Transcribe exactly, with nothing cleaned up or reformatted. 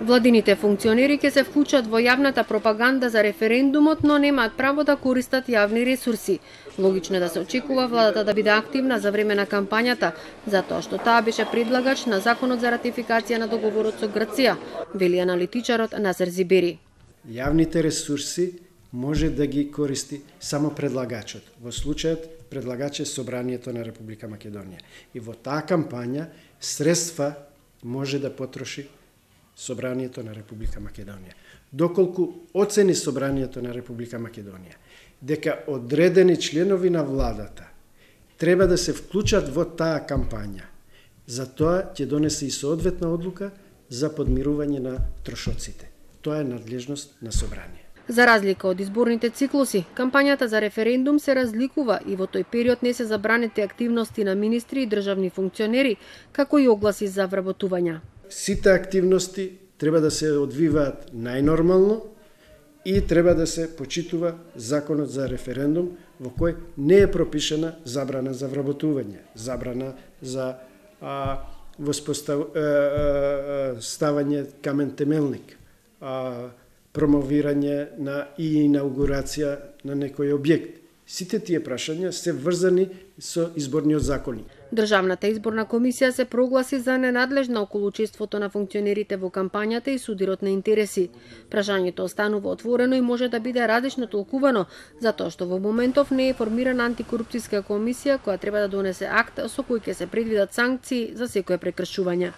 Владините функционери ќе се вклучат во јавната пропаганда за референдумот, но немаат право да користат јавни ресурси. Логично е да се очекува владата да биде активна за време на кампањата, затоа што таа беше предлагач на законот за ратификација на договорот со Грција, вели аналитичарот Назер Зибери. Јавните ресурси може да ги користи само предлагачот. Во случајот предлагач е Собранието на Република Македонија. И во таа кампања средства може да потроши Собранието на Република Македонија. Доколку оцени Собранието на Република Македонија дека одредени членови на владата треба да се вклучат во таа кампања, затоа ќе донесе и соодветна одлука за подмирување на трошоците. Тоа е надлежност на Собрание. За разлика од изборните циклуси, кампањата за референдум се разликува и во тој период не се забранети активности на министри и државни функционери, како и огласи за вработувања. Сите активности треба да се одвиваат најнормално и треба да се почитува законот за референдум во кој не е пропишена забрана за вработување, забрана за а, воспоставање камен темелник, а, промовирање на и инаугурација на некој објект. Сите тие прашања се врзани со изборниот законник. Државната изборна комисија се прогласи за ненадлежна околу учеството на функционерите во кампањата и судирот на интереси. Прашањето останува отворено и може да биде различно толкувано, затоа што во моментов не е формирана антикорупцијска комисија која треба да донесе акт со кој ќе се предвидат санкции за секое прекршување.